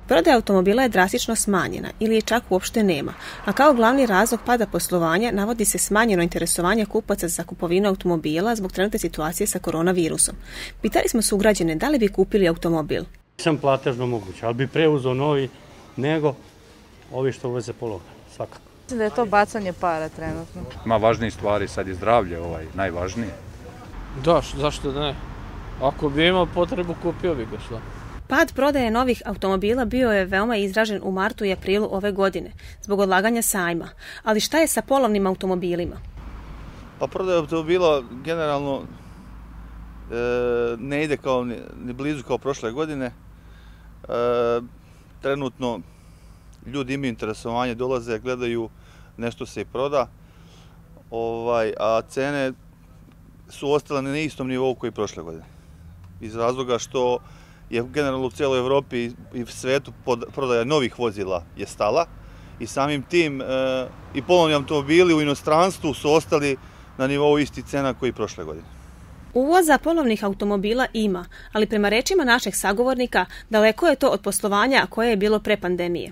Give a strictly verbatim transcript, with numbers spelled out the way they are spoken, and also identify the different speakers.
Speaker 1: Prodaja automobila je drastično smanjena ili je čak uopšte nema, a kao glavni razlog pada poslovanja navodi se smanjeno interesovanje kupaca za kupovinu automobila zbog trenutne situacije sa koronavirusom. Pitali smo sugrađane da li bi kupili automobil.
Speaker 2: Nisam platežno moguće, ali bi preuzeo novi nego ovi što uvoze pologa, svakako.
Speaker 3: Mislim da je to bacanje para trenutno.
Speaker 4: Ima važnije stvari, sad je zdravlje ovaj, najvažnije.
Speaker 5: Da, zašto da ne? Ako bi imao potrebu, kupio bi ga što.
Speaker 1: Pad prodaje novih automobila bio je veoma izražen u martu i aprilu ove godine, zbog odlaganja sajma. Ali šta je sa polovnim automobilima?
Speaker 6: Pa prodaja automobila generalno e, ne ide kao ni, ni blizu kao prošle godine. E, trenutno ljudi imaju interesovanje, dolaze, gledaju, nešto se i proda, ovaj, a cene su ostale na istom nivou koji prošle godine. Iz razloga što je generalno u cijeloj Evropi i svetu prodaja novih vozila je stala i samim tim e, i polovni automobili u inostranstvu su ostali na nivou istih cena koji prošle godine.
Speaker 1: Uvoza polovnih automobila ima, ali prema rečima našeg sagovornika daleko je to od poslovanja koje je bilo pre pandemije.